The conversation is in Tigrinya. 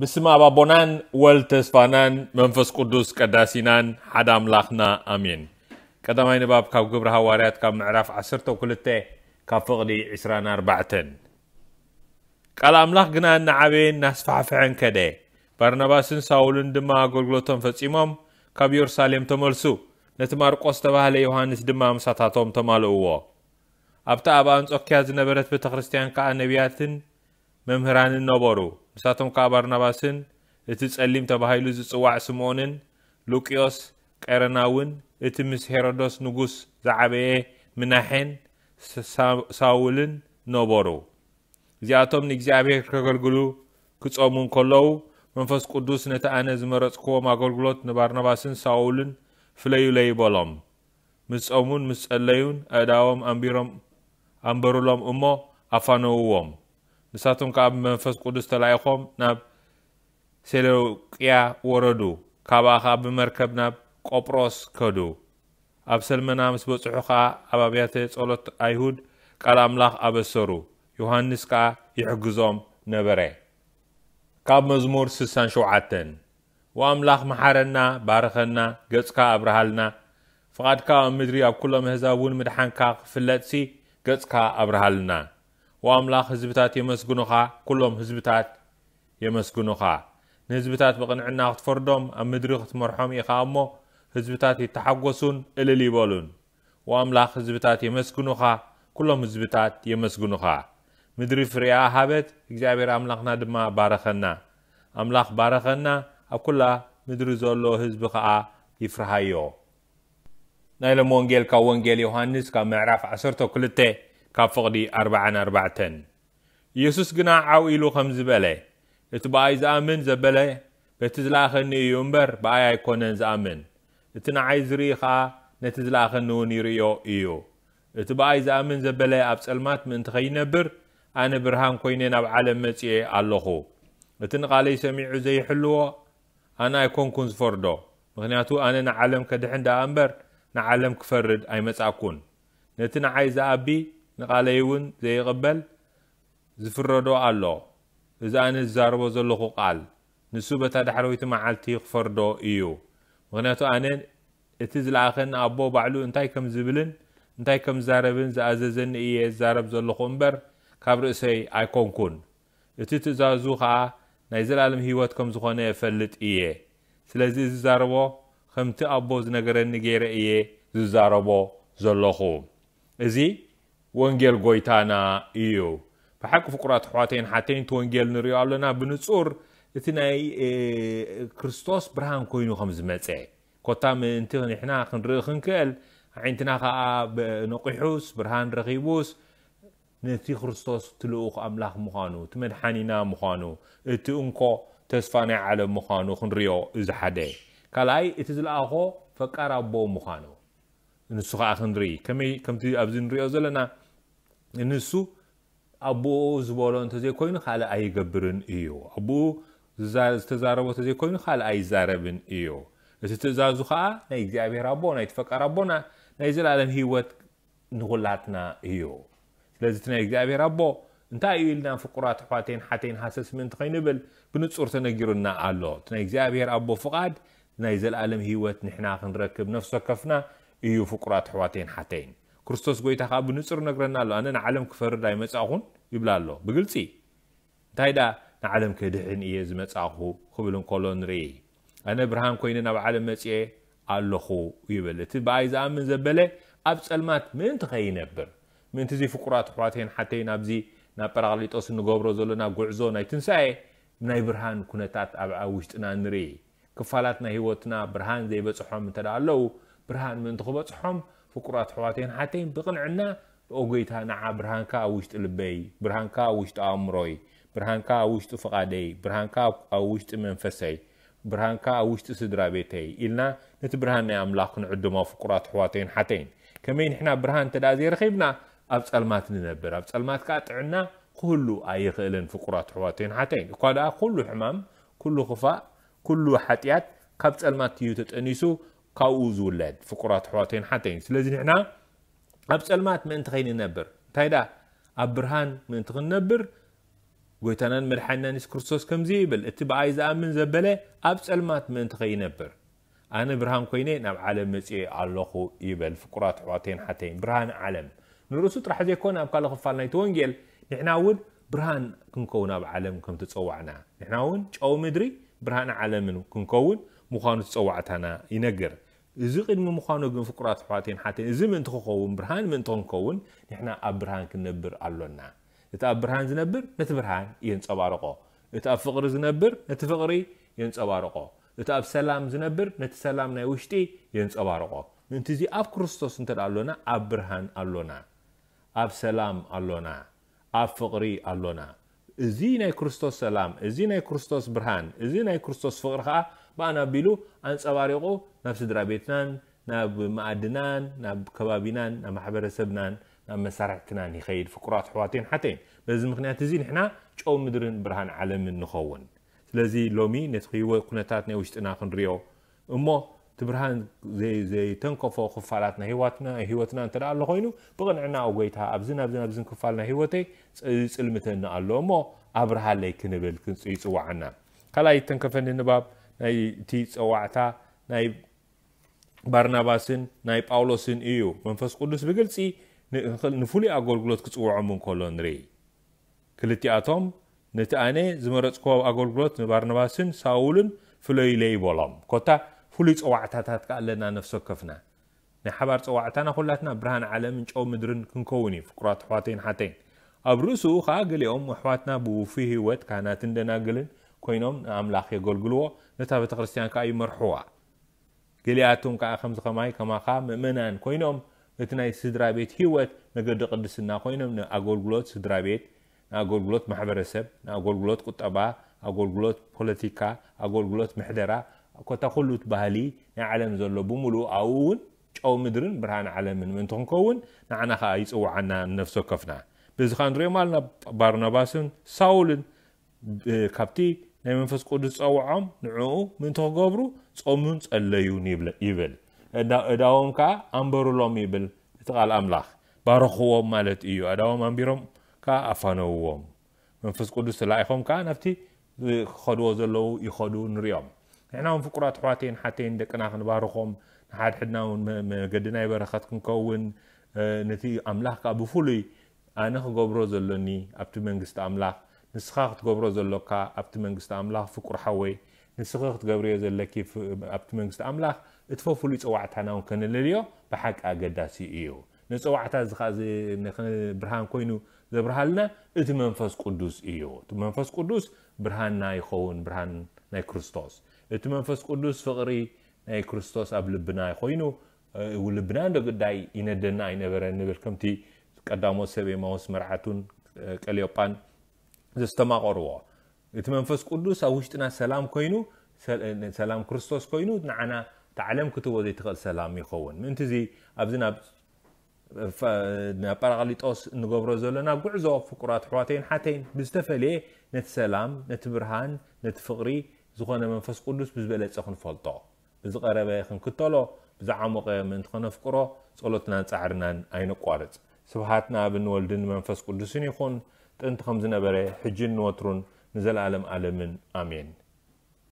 ብስም ኣብ ኣቦናን ወልድ ተስፋናን መንፈስ ቅዱስ ቀዳሲናን ሓደ ኣምላኽና ኣሜን። ቀዳማይ ንባብ ካብ ግብሪ ሃዋርያት ካብ ምዕራፍ ዓሰርተ ክልተ ካብ ፍቕዲ ዕስራን ኣርባዕተን። ቃል ኣምላኽ ግና እናዓበየን እናስፋሕፍሐን ከደ። ባርናባስን ሳውልን ድማ ኣገልግሎቶም ፈጺሞም ካብ ኢየሩሳሌም ተመልሱ። ነቲ ማርቆስ ዝተባህለ ዮሃንስ ድማ ምሳታቶም ተማልእዎ። ኣብታ ኣብ ኣንጾክያ ዝነበረት ቤተ ክርስቲያን ከኣ ነቢያትን መምህራንን ነበሩ። ንሳቶም ከኣ ባርናባስን እቲ ጸሊም ተባሂሉ ዝጽዋዕ ስምዖንን ሉቅዮስ ቀረናውን እቲ ምስ ሄሮዶስ ንጉስ ዝዓበየ ምናሔን ሳ-፣ ሳውልን ነበሩ። እዚኣቶም ንእግዚኣብሔር ከገልግሉ ክጾሙ እንከለዉ መንፈስ ቅዱስ ነቲ ኣነ ዝመረጽክዎም ኣገልግሎት ንባርናባስን ሳውልን ፍለዩለይ በሎም። ምስ ጾሙን ምስ ጸለዩን ኣእዳዎም ኣንቢሮም ኣንበሩሎም እሞ ኣፋነውዎም። ንሳቶም ከኣ ብመንፈስ ቅዱስ ተላኢኾም ናብ ሴሎቅያ ወረዱ። ካብኣ ከኣ ብመርከብ ናብ ቆጵሮስ ከዱ። ኣብ ሰልመና ምስ በጽሑ ከኣ ኣብ ኣብያተ ጸሎት ኣይሁድ ቃል ኣምላኽ ኣበሰሩ። ዮሃንስ ከኣ ይሕግዞም ነበረ። ካብ መዝሙር ስሳን ሸውዓተን። ወኣምላኽ መሓረና፣ ባርኸና፣ ገጽካ ኣብርሃልና። ፍቓድካ ኣብ ምድሪ ኣብ ኩሎም ኣህዛብ እውን ምድሓንካ ክፍለጥሲ ገጽካ ኣብርሃልና። ወኣምላኽ ህዝብታት የመስግኑኻ፣ ኩሎም ህዝብታት የመስግኑኻ። ንህዝብታት ብቕንዕና ክትፈርዶም ኣብ ምድሪ ክትመርሖም ኢኻ እሞ ህዝብታት ይተሓጎሱን እልል ይበሉን። ወኣምላኽ ህዝብታት የመስግኑኻ፣ ኩሎም ህዝብታት የመስግኑኻ። ምድሪ ፍሬኣ ሃበት፣ እግዚኣብሔር ኣምላኽና ድማ ባረኸና። ኣምላኽ ባረኸና፣ ኣብ ኩላ ምድሪ ዘሎ ህዝቢ ኸኣ ይፍርሃዮ። ናይ ሎም ወንጌል ካብ ወንጌል ዮሃንስ ካብ ምዕራፍ ዓሰርተ ክልተ ካብ ፍቕዲ ኣርብዓን ኣርባዕተን። ኢየሱስ ግና ዓው ኢሉ ኸምዚ በለ፣ እቲ ብኣይ ዝኣምን ዘበለ በቲ ዝለኣኸኒ እዩ እምበር ብኣይ ኣይኮነን ዝኣምን። እቲ ንዓይ ዝርኢ ኸኣ ነቲ ዝለኣኸኒ እውን ይርእዮ እዩ። እቲ ብኣይ ዝኣምን ዘበለ ኣብ ጸልማት ምእንቲ ኸይነብር ኣነ ብርሃን ኮይነ ናብ ዓለም መጺኤ ኣለኹ። እቲ ንቓለይ ሰሚዑ ዘይሕልዎ ኣነ ኣይኮንኩን ዝፈርዶ፣ ምኽንያቱ ኣነ ንዓለም ከድሕን ደኣ እምበር ንዓለም ክፈርድ ኣይመጻእኩን። ነቲ ንዓይ ዝኣቢ ንቓለይ እውን ዘይቕበል ዝፍረዶ ኣሎ። እዚ ኣነ ዝዛረቦ ዘለኹ ቃል ንሱ በታ ዳሕረወይቲ መዓልቲ ክፈርዶ እዩ። ምኽንያቱ ኣነ እቲ ዝለኣኸኒ ኣቦ ባዕሉ እንታይ ከም ዝብልን እንታይ ከም ዝዛረብን ዝኣዘዘኒ እየ ዝዛረብ ዘለኹ እምበር ካብ ርእሰይ ኣይኮንኩን። እቲ ትእዛዙ ኸኣ ናይ ዘለኣለም ህይወት ከም ዝኾነ እፈልጥ እየ። ስለዚ ዝዛረቦ ከምቲ ኣቦ ዝነገረኒ ገይረ እየ ዝዛረቦ ዘለኹ። እዚ ወንጌል ጎይታና እዩ። ብሓቂ ፍቁራት ኣሕዋተይን ሓተይን እቲ ወንጌል ንሪኦ ኣለና ብንጹር እቲ ናይ፣ እ፣ ክርስቶስ ብርሃን ኮይኑ ከም ዝመጸ። ኮታ ምእንቲ ንሕና ክንርኢ ክንክእል፣ ኣዒንትና ኸኣ ብ-፣ ነቂሑስ ብርሃን ረኺቡስ ነቲ ክርስቶስ እቲ ልኡኽ ኣምላኽ ምዃኑ፣ እቲ መድሓኒና ምዃኑ፣ እቲ እንኮ ተስፋ ናይ ዓለም ምዃኑ ክንሪኦ እዚ ሓደ። ካልኣይ እቲ ዝለኣኾ ፈቃር ኣቦ ምዃኑ። ንሱ ኸኣ ክንርኢ፣ ከመይ ከምቲ ኣብዚ ንሪኦ ዘለና ንሱ ኣቦኡ ዝበሎ እንተዘይኮይኑ ካልእ ኣይገብርን እዩ። ኣቦኡ ዝዛ-፣ ዝተዛረቦ እንተዘይኮይኑ ካልእ ኣይዛረብን እዩ። እቲ ትእዛዙ ኸኣ ናይ እግዚኣብሔር ኣቦ፣ ናይ ፈቃር ኣቦና ናይ ዘለኣለም ህይወት ንኹላትና እዩ። ስለዚ እቲ ናይ እግዚኣብሔር ኣቦ እንታይ እዩ ኢልና ፍቁራት ኣሕዋተይን ሓተይን ሃሰስ ምእንቲ ከይንብል ብንጹር ተነጊሩና ኣሎ። እቲ ናይ እግዚኣብሔር ኣቦ ፍቓድ ናይ ዘለኣለም ህይወት ንሕና ክንረክብ ነፍሲ ወከፍና እዩ ፍቁራት ኣሕዋተይን ሓተይን። ክርስቶስ ጎይታ ከኣ ብንጹር ነግረና ኣሎ። ኣነ ንዓለም ክፈርድ ኣይመጻእኹን ይብላ ኣሎ ብግልጺ። እንታይ ደኣ ንዓለም ክድሕን እየ ዝመጻእኹ ክብል እንከሎ ንርኢ። ኣነ ብርሃን ኮይነ ናብ ዓለም መጺኤ ኣለኹ ይብል። እቲ ብኣይ ዝኣምን ዘበለ ኣብ ጸልማት ምእንቲ ከይነብር። ምእንቲ እዚ ፍቁራት ኣሕዋተይን ሓተይን ኣብዚ ናብ ጳራቅሊጦስ እንገብሮ ዘለና ጉዕዞ ናይ ትንሳኤ ናይ ብርሃን ኩነታት ኣብ፣ ኣብ ውሽጥና ንርኢ። ክፋላት ናይ ህይወትና ብርሃን ዘይበጽሖም እንተ ደኣ ኣለዉ፣ ብርሃን ምእንቲ ክበጽሖም ፍቁራት ኣሕዋተይን ሓተይን ብቕንዕና፣ "ኦ ጎይታ፣ ንዓ ብርሃንካ ኣብ ውሽጢ ልበይ፣ ብርሃንካ ኣብ ውሽጢ ኣእምሮይ፣ ብርሃንካ ኣብ ውሽጢ ፍቓደይ፣ ብርሃንካ ኣብ፣ ኣብ ውሽጢ መንፈሰይ፣ ብርሃንካ ኣብ ውሽጢ ስድራ ቤተይ" ኢልና ነቲ ብርሃን ናይ ኣምላኽ ክንዕድሞ ፍቁራት ኣሕዋተይን ሓተይን። ከመይ ንሕና ብርሃን እንተ ደኣ ዘይረኺብና ኣብ ጸልማት ንነብር። ኣብ ጸልማት ከኣ ጥዕና ክህሉ ኣይኽእልን ፍቁራት ኣሕዋተይን ሓተይን። እኳ ደኣ ኩሉ ሕማም፣ ኩሉ ክፋእ፣ ኩሉ ሓጢኣት ካብ ጸልማት እዩ ተጠኒሱ ካብኡ ዝውለድ ፍቁራት ኣሕዋተይን ሓተይን። ስለዚ ንሕና ኣብ ጸልማት ምእንቲ ከይንነብር፣ እንታይ ደኣ ኣብ ብርሃን ምእንቲ ክንነብር ጎይታናን መድሓኒናን የሱስ ክርስቶስ ከምዚ ይብል፣ "እቲ ብኣይ ዝኣምን ዘበለ ኣብ ጸልማት ምእንቲ ከይነብር፣ ኣነ ብርሃን ኮይነ ናብ ዓለም መጺኤ ኣለኹ" ይበል። ፍቁራት ኣሕዋተይን ሓተይን፣ ብርሃን ዓለም ንርእሱ ጥራሕ ዘይኮነ ኣብ ካልእ ክፋል ናይቲ ወንጌል ንሕና እውን ብርሃን ክንከውን ኣብ ዓለም ከም ተጸዋዕና፣ ንሕና እውን ጨው ምድሪ ብርሃን ዓለምን ክንከውን ምዃኑ ተጸዋዕታና ይነግር። እዚ ቅድሚ ምዃኑ ግን ፍቁራት ኣሕዋተይን ሓተይን፣ እዚ ምእንቲ ክኸውን፣ ብርሃን ምእንቲ ክንከውን ንሕና ኣብ ብርሃን ክንነብር ኣሎና። እቲ ኣብ ብርሃን ዝነብር ነቲ ብርሃን የንጸባርቆ። እቲ ኣብ ፍቕሪ ዝነብር ነቲ ፍቕሪ የንጸባርቆ። እቲ ኣብ ሰላም ዝነብር ነቲ ሰላም ናይ ውሽጢ የንጸባርቆ። ምእንቲ እዚ ኣብ ክርስቶስ እንተ ደኣ ኣሎና ኣብ ብርሃን ኣሎና። ኣብ ሰላም ኣሎና። ኣብ ፍቕሪ ኣሎና። እዚ ናይ ክርስቶስ ሰላም፣ እዚ ናይ ክርስቶስ ብርሃን፣ እዚ ናይ ክርስቶስ ፍቕሪ ከኣ ብኣና ኣቢሉ ኣንጸባሪቑ ናብ ስድራ ቤትናን ናብ መኣድናን ናብ ከባቢናን ናብ ማሕበረሰብናን ናብ መሳርሕትናን ይኸይድ። ፍቁራት ኣሕዋተይን ሓተይን፣ በዚ ምኽንያት እዚ ንሕና ጨው ምድርን ብርሃን ዓለምን ንኸውን። ስለዚ ሎሚ ነቲ ህይወት ኩነታት ናይ ውሽጥና ክንሪኦ እሞ እቲ ብርሃን ዘይ- ዘይተንከፎ ክፋላት ናይ ህይወትና ህይወትና እንተ ደኣ ኣሎ ኮይኑ ብቕንዕና ኣብ ጎይታ ኣብዚ ናብዚ ናብዝን ክፋል ናይ ህይወተይ ፅ- ይጽልምተኒ ኣሎ እሞ ኣብርሃለይ ክንብል ክንጽ- ይጽዋዓና። ካልኣይ ተንከፈኒ ንባብ ናይ እቲ ጸዋዕታ ናይ ባርናባስን ናይ ጳውሎስን እዩ። መንፈስ ቅዱስ ብግልጺ ን- ንፍሉይ ኣገልግሎት ክጽውዖም እንከሎ ንርኢ። ክልቲኣቶም ነቲ ኣነ ዝመረጽክዎ ኣገልግሎት ንባርናባስን ሳውልን ፍለዩለይ በሎም። ኮታ ፍሉይ ጸዋዕታታት ከኣ ኣለና ነፍሲ ወከፍና። ናይ ሓባር ጸዋዕታና ኩላትና ብርሃን ዓለምን ጨው ምድርን ክንከውን እዩ ፍቁራት ኣሕዋተይን ሓተይን። ኣብ ርእሱ ከኣ ገሊኦም ኣሕዋትና ብውፉይ ህይወት ካህናትን ደናግልን ኮይኖም ንኣምላኽ የገልግልዎ፣ ነታ ቤተ ክርስቲያን ከኣ ይመርሕዋ። ገሊኣቶም ከኣ ከምዚ ከማይ ከማኻ ምእመናን ኮይኖም እቲ ናይ ስድራ ቤት ህይወት መገዲ ቅድስና ኮይኖም ንኣገልግሎት ስድራ ቤት ንኣገልግሎት ማሕበረሰብ ንኣገልግሎት ቁጠባ ኣገልግሎት ፖለቲካ ኣገልግሎት ምሕደራ ኮታ ኩሉ እቲ ባህሊ ናይ ዓለም ዘሎ ብምሉኡ ኣብኡ እውን ጨው ምድርን ብርሃን ዓለምን ምእንቲ ክንከውን ንዓና ከኣ ይጽውዓና ንነፍሲ ወከፍና። በዚ ከኣ ንሪኦም ኣለና ባርናባስን ሳውልን ካብቲ ናይ መንፈስ ቅዱስ ዝጸውዖም ንዕኡ ምእንቲ ክገብሩ ጾሙን ጸለዩን ይብል። እዳዎም ከኣ ኣንበሩሎም ይብል እቲ ቃል ኣምላኽ። ባረኽዎም ማለት እዩ። ኣእዳዎም ኣንቢሮም ከኣ ኣፋነውዎም። መንፈስ ቅዱስ ተላኢኾም ከኣ ናብቲ ክኸድዎ ዘለዉ ይኸዱ ንሪኦም። ንሕና እውን ፍቁራት ኣሕዋተይን ሓተይን ደቅና ክንባርኾም ንሓድሕድና እውን መገዲ ናይ በረኸት ክንከውን ነቲ ኣምላኽ ከኣ ብፍሉይ ኣነ ክገብሮ ዘሎኒ ኣብቲ መንግስቲ ኣምላኽ ንስኻ ክትገብሮ ዘሎካ ኣብቲ መንግስቲ ኣምላኽ ፍቁር ሓወይ ንስኺ ክትገብርዮ ዘለኪ ኣብቲ መንግስቲ ኣምላኽ እቲ ፈፍሉይ ጸዋዕታና እውን ከነለልዮ ብሓቂ ኣገዳሲ እዩ። ንጸዋዕታ እዚ ከኣ ብርሃን ኮይኑ ዘብርሃልና እቲ መንፈስ ቅዱስ እዩ። እቲ መንፈስ ቅዱስ ብርሃንና ይኸውን፣ ብርሃን ናይ ክርስቶስ። እቲ መንፈስ ቅዱስ ፍቕሪ ናይ ክርስቶስ ኣብ ልብና ኮይኑ ልብና እንዶ ግዳይ ይነደና ኣይነበረ ንብል ከምቲ ቀዳሞት ሰብ ኤማውስ መርዓቱን ቀልዮጳን ዘስተማቐርዎ። እቲ መንፈስ ቅዱስ ኣብ ውሽጥና ሰላም ኮይኑ ሰላም ክርስቶስ ኮይኑ ንዓና እታ ዓለም ክትህቦ ዘይትኽእል ሰላም ይኸውን። ምእንቲ እዚ ኣብዚ ናብ ናብ ጳራቅሊጦስ እንገብሮ ዘለና ጉዕዞ ፍቁራት ኣሕዋተይን ሓተይን ብዝተፈለየ ነቲ ሰላም ነቲ ብርሃን ነቲ ፍቕሪ ዝኾነ መንፈስ ቅዱስ ብዝበለጸ ክንፈልጦ ብዝቐረበ ክንክተሎ ብዝዓሞቐ ምእንቲ ከነፍቅሮ ጸሎትናን ጻዕርናን ኣይነቋርጽ። ስብሃት ንኣብን ወልድን መንፈስ ቅዱስን ይኹን ጥንቲ ከም ዝነበረ ሕጅን ንወትሩን ንዘለኣለም ኣለምን ኣሜን።